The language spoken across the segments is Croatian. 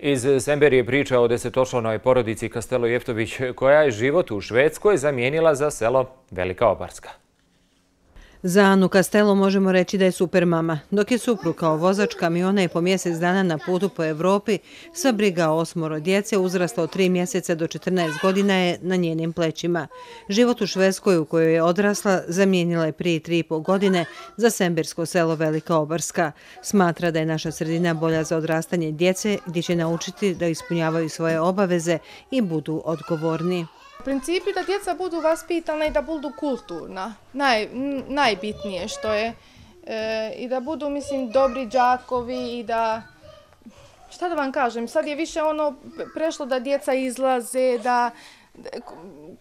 Iz Semberije priča o desetočlanoj porodici Kastelo Jeftović koja je život u Švedskoj zamijenila za selo Velika Obarska. Za Anu Kastelo možemo reći da je super mama. Dok je suprug kao vozač kamiona i po mjesec dana na putu po Evropi, sva briga o 8 djece uzrasta od 3 mjeseca do 14 godina je na njenim plećima. Život u Švedskoj u kojoj je odrasla zamijenila je prije 3,5 godine za sembersko selo Velika Obarska. Smatra da je naša sredina bolja za odrastanje djece gdje će naučiti da ispunjavaju svoje obaveze i budu odgovorni. U principu da djeca budu vaspitana i da budu kulturna, najbitnije što je, i da budu, mislim, dobri đakovi i da, šta da vam kažem, sad je više ono prešlo da djeca izlaze, da,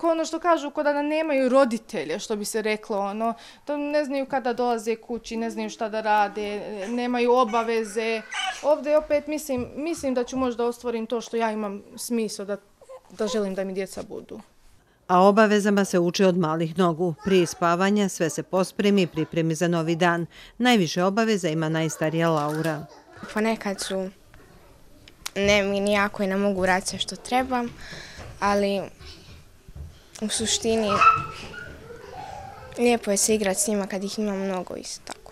ono što kažu ko da nemaju roditelje, što bi se reklo, ono, to ne znaju kada dolaze kući, ne znaju šta da rade, nemaju obaveze. Ovdje opet mislim da ću možda ostvarim to što ja imam smisao da želim da mi djeca budu. A obavezama se uče od malih nogu. Prije spavanja sve se pospremi i pripremi za novi dan. Najviše obaveza ima najstarija Laura. Ponekad su nevini jako i ne mogu raditi sve što trebam, ali u suštini lijepo je se igrati s njima kad ih ima mnogo isto tako.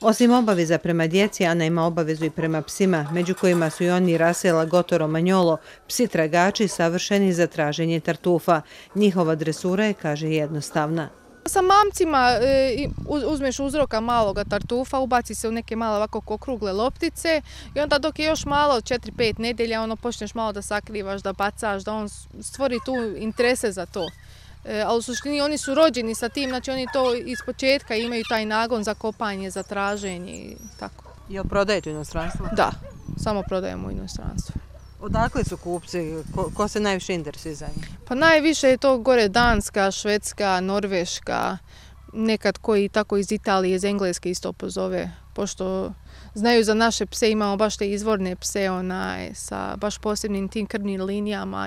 Osim obaveza prema djeci, Ana ima obavezu i prema psima, među kojima su i oni Rasela, Goto, Romagnolo, psi tragači savršeni za traženje tartufa. Njihova dresura je, kaže, jednostavna. Sa mamcima uzmeš uzroka maloga tartufa, ubaci se u neke male ovako okrugle loptice i onda dok je još malo, 4-5 nedelja, ono počneš malo da sakrivaš, da bacaš, da on stvori tu interese za to. Ali u suštini oni su rođeni sa tim, znači oni to iz početka imaju taj nagon za kopanje, za traženje i tako. Jel prodajete u inostranstvu? Da, samo prodajemo u inostranstvu. Odakle su kupci? Ko se najviše interesuje za njih? Pa najviše je to gore Danska, Švedska, Norveška, nekad koji tako iz Italije, iz Engleske isto pozove, pošto znaju za naše pse, imamo baš te izvorne pse sa baš posebnim tim krvnim linijama.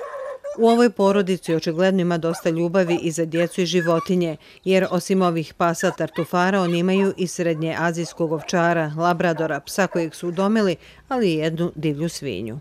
U ovoj porodici očigledno ima dosta ljubavi i za djecu i životinje, jer osim ovih pasa tartufara oni imaju i srednje azijskog ovčara, labradora, psa kojeg su udomili, ali i jednu divlju svinju.